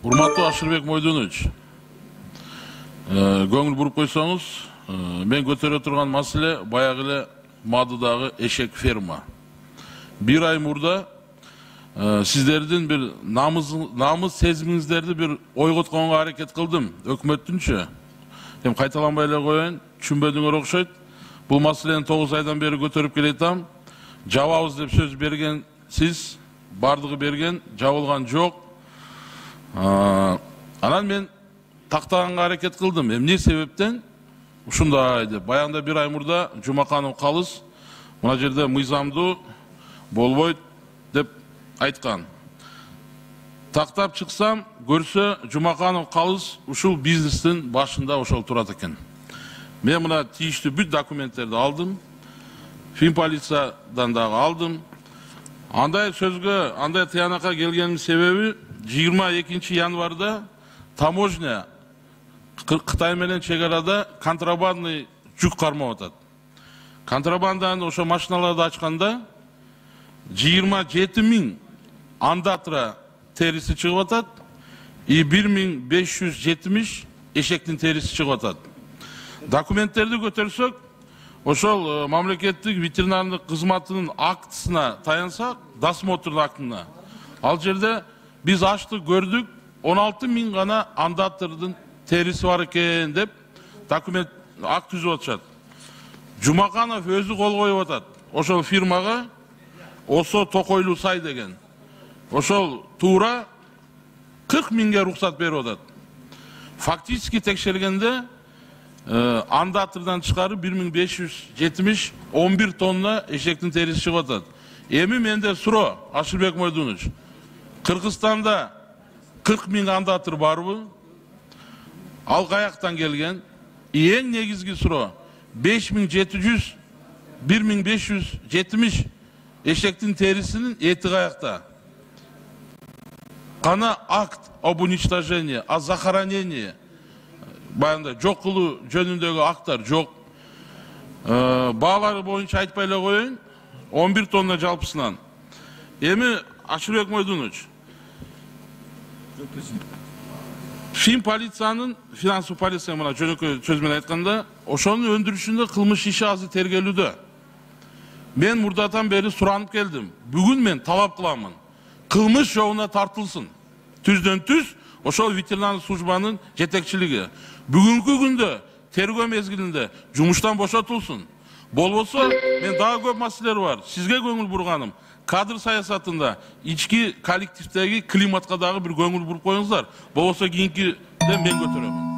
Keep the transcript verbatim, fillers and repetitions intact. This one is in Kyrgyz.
Урматтуу Ашырбек Мойдонович, көңүл буруп койсоңуз, мен көтөрө турган маселе баягы эле Мадыдагы эшек ферма. Бир ай мурда сиздердин бир намыс сезимиңиздерди бир ойготконго аракет кылдым, өкмөттүнчө. Эми кайталанбай эле коеюн, түшүнбөдүңөр окшойт. Бул маселени тогуз айдан бери көтөрүп келатам. Жабабыз деп сөз берген сиз, бардыгы берген, жабылган жок. Анан мен тактаганга аракет кылдым. Эмне себептен ушундай деп. Баягында бир ай мурда Жумаканов Калыс мына жерде мыйзамдуу болбойт деп айткан. Тактап чыксам, көрсө Жумаканов Калыс ушул бизнестин башында ошол турат экен. Мен мына тийиштүү бүт документтерди алдым. Финполициядан дагы алдым. Андай сөзгө, андай тыянакка келгеним себеби жыйырма экинчи январда таможня Кытай менен чек арада контрабандный жүк кармап атат. Контрабанданы ошо машиналарды ачканда жыйырма жети миң андатра териси чыгып атат, и бир миң беш жүз жетимиш эшектин териси чыгып атат. Документтерди көтөрсөк, ошол мамлекеттик ветеринардык кызматынын актысына таянсак, досмотр актына, ал жерде биз ачтык көрдүк, он алты миң гана андатрдын териси бар экен деп документ акт түзүп атышат. Жумаканов өзү кол коюп атат. Ошол фирмага Осо Токойлуу сай деген. Ошол туура кырк миңге рухсат берип атат. Фактически текшергенде андатрдан тышкары бир миң беш жүз жетимиш он бир тонна эшектин териси чыгып атат. Эми менде суроо, Ашырбек Мойдонович, Кыргызстанда кырк миң андатыр барбы? Ал каяктан келген? Эң негизги суроо, беш миң жети жүз бир миң беш жүз жетимиш эшектин терисинин эти каякта? Кана акт об уничтожении, о захоронении баягындай жок кылуу жөнүндөгү акттар жок. Баалары боюнча айтпай эле коеюн, он бир тонна жалпысынан. Эми Ашырбек Мойдонович, Финполициянын, финансовый полиция мына жөнөкөй сөз менен айтканда, ошонун өндүрүшүндө кылмыш иши азыр тергелүүдө. Мен мурдатан бери суранып келдим. Бүгүн мен талап кыламын. Кылмыш жолуна тартылсын. Түздөн түз ошол ветеринардык службанын жетекчилиги. Бүгүнкү күндө тергөө мезгилинде жумуштан бошотулсын. Болбосо, мен дагы көп маселелер бар. Сизге көңүл бурганым. Кадр саясатында ички коллективдеги климатка дагы бир көңүл буруп коюңуздар. Болбосо кийинкиде мен көтөрөмүн.